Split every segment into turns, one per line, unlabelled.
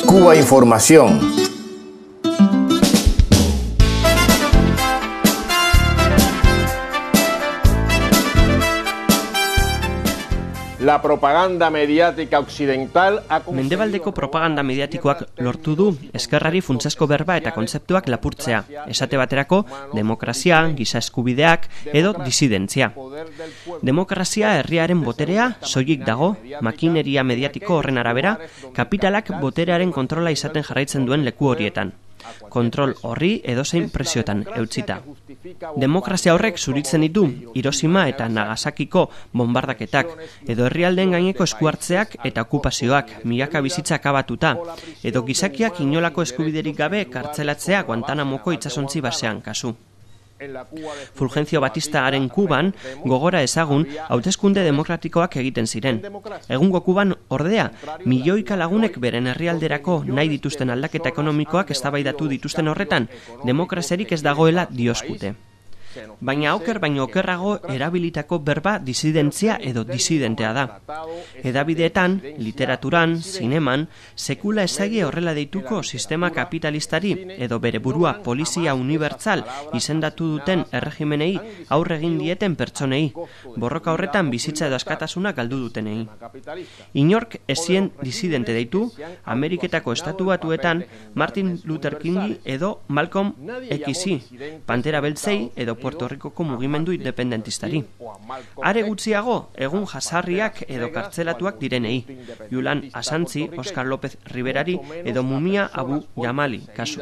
Cuba Información. La propaganda mediática occidental
Mendebaldeko propaganda mediatikoak lortu du ezkerrari funtsezko berba eta kontzeptuak lapurtzea, esate baterako demokrazia, giza eskubideak edo disidentzia. Demokrazia herriaren boterea soilik dago, makineria mediatiko horren arabera, kapitalak boterearen kontrola izaten jarraitzen duen leku horietan. Kontrol horri edozein presiotan eutsita. Demokrazia horrek zuritzen ditu Hiroshima eta Nagasakiko bonbardaketak, edo herrialdeen gaineko eskuhartzeak eta okupazioak, milaka bizitza akabatuta, edo gizakiak inolako eskubiderik gabe kartzelatzea Guantanamoko itsasontzi basean kasu. Fulgencio Batistaren Kuban gogora ezagun hauteskunde demokratikoak egiten ziren. Egungo Kuban ordea, milioika lagunek beren herrialderako nahi dituzten aldaketa ekonomikoak eztabaidatu dituzten horretan, demokraziarik ez dagoela dioskute. Baina oker baino okerrago erabilitako berba disidentzia edo disidentea da. Hedabideetan, literaturan, zineman, sekula ezagi horrela deituko sistema kapitalistari edo bere burua polizia unibertsal izendatu duten erregimenei aurre egin dieten pertsonei, borroka horretan bizitza edo askatasuna galdu dutenei. Inork ezien disidente deitu, Ameriketako Estatu Batuetan Martin Luther Kingi edo Malcolm X, Pantera Beltzei edo Puerto Ricoko mugimendu independentistari. Are gutxiago, egun jasarriak edo kartzelatuak direnei, Julian Assange, Oscar López Riverari edo Mumia Abu Jamali kasu.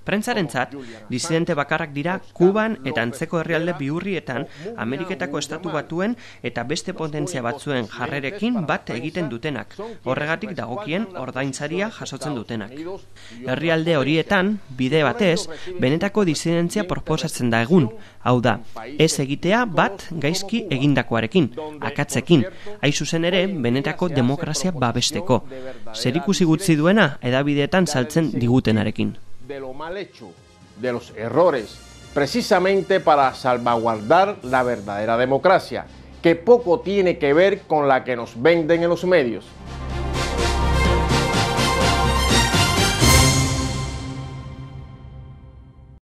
Prentzarentzat, disidente bakarrak dira Kuban eta antzeko herrialde bihurrietan Ameriketako Estatu Batuen eta beste potentzia batzuen jarrerekin bat egiten dutenak, horregatik dagokien ordaintzaria jasotzen dutenak. Herrialde horietan, bide batez, benetako disidentzia proposatzen da egun, hau da, ez egitea bat gaizki egindakoarekin, akatzekin, hain zuzen ere benetako demokrazia babesteko, zerikusi gutxi duena hedabideetan saltzen digutenarekin.
De lo mal hecho, de los errores, precisamente para salvaguardar la verdadera democracia, que poco tiene que ver con la que nos venden en los medios.